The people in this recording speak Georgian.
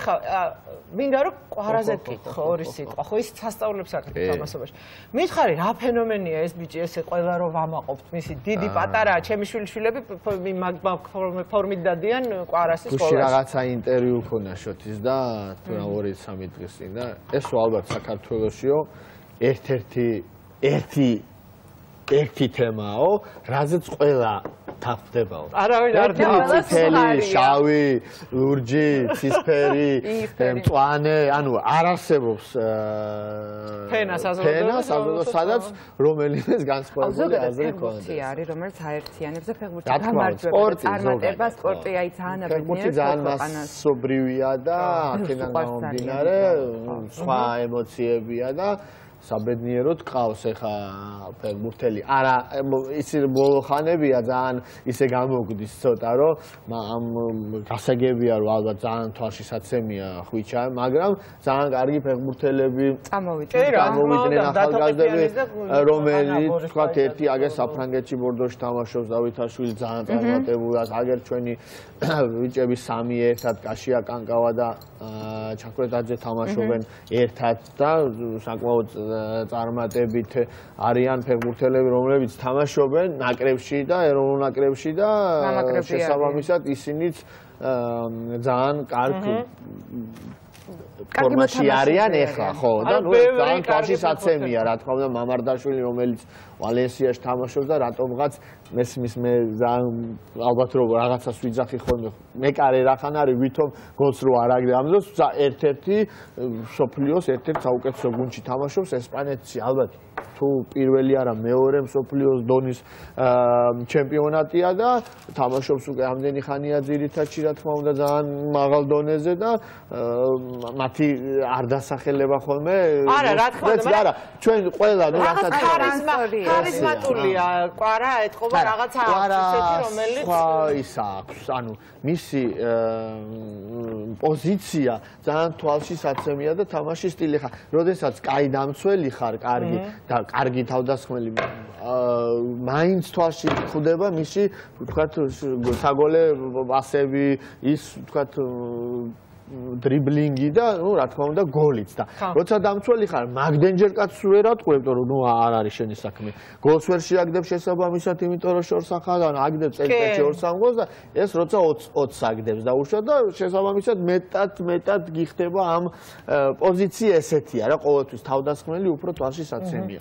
ხა მინდა რომ ყვარაზე გითხო ორი სიტყვა ხო ის სასწაულებს აკეთებ თამაშობაში მითხარი რა ფენომენია ეს ბიჭი ესე ყველა რომ ვამაყობთ მისი დიდი პატარაა ჩემი შვილები ფორმით დადიან ყვარასის სკოლაში გუშინ რაღაცა ინტერვიუ ქონა შოთის და 2-3 დღის წინ და ეს ალბათ საქართველოსიო ერთი თემაო რაზეც ყველა თაფდებაო არავინ არ თელი შავი ლურჯი ცისფერი მწვანე ანუ არ არსებობს ფენა სადაც რომელიმეს განსხვავებული აზრი ქონდეს არის რომელიც აერთიანებს და ფეხბურთი გამარჯვება წარმატება სპორტი აი ძალიან ფეხბურთი ძალიან მასობრივია და აქედან გამომდინარე სხვა ემოციებია და საბედნიეროდ ყავს ეხა ფეხბურთელი არა ისი ბოლო ხანებია ძალიან ისე გამოგდის ცოტა რომ ამ გასაგებია რომ ალბათ ძალიან თვალშისაცემია ხვიჩა მაგრამ ძალიან კარგი ფეხბურთელები წამოვიდნენ ახალგაზრდები რომელიც თქვათ ერთი აგერ საფრანგეთში ბორდოში თამაშობს დავითაშვილი ძალიან წარმატებულა აგერ ჩვენი ბიჭები სამი ერთად კაშია კანკავა და ჩაქვეტაძე თამაშობენ ერთად და საკმაოდ წარმატებით არიან ფეხბურთელები რომლებიც თამაშობენ ნაკრებში და ეროვნულ ნაკრებში და შესაბამისად ისინიც ძალიან კარგ ფორმაში არიან ეხლა ხო და ნუ ძალიან თვალშისაცემია რა თქმა უნდა მამარდაშვილი რომელიც ვალენსიაში თამაშობს და რატომღაც მესმის მე ალბათ რომ რაღაცას ვიძახი ხოლმე მეკარე რახან არის ვითომ გოლს რო არ აგდე ამ დროს ერთ-ერთი სოფლიოს ერთ-ერთ საუკეთესო გუნდში თამაშობს ესპანეთში ალბათ თუ პირველი არა მეორე სოფლიოს დონის ჩემპიონატია და თამაშობს უკვე ამდენი ხანია ძირითადში რა თქმა უნდა ძალიან მაღალ დონეზე და მათი არ დასახელება ხოლმე არა რა თქმა უნდა არა ჩვენ ყველა ნუ რასაც ხარიზმატულია ყვარა ეთყობა რაღაცა ისეთი რომელიც სხვა ის აქვს ანუ მისი პოზიცია ძალიან თვალშისაცემია და თამაშის სტილი ხარ როდესაც კაი დამცველი ხარ კარგი და კარგი თავდასხმელი მაინც თვალში ხვდება მისი ვთქვათ საგოლე პასები ის ვთქვათ დრიბლინგი და ნუ რა თქმა უნდა გოლიც და როცა დამცველი ხარ მაგდენჯერ კაცს ვერ ატყუებ რომ ნუ არ არის შენი საქმე გოლს ვერ შეაგდებ შესაბამისად იმიტომ რომ შორს ახალან აგდებ წელიწადში 2-3 გოლს და ეს როცა 20 აგდებს და უშვა და შესაბამისად მეტად გიხდება ამ პოზიცია ესეთია რა ყოველთვის თავდასხმელი უფრო თვალშისაცემია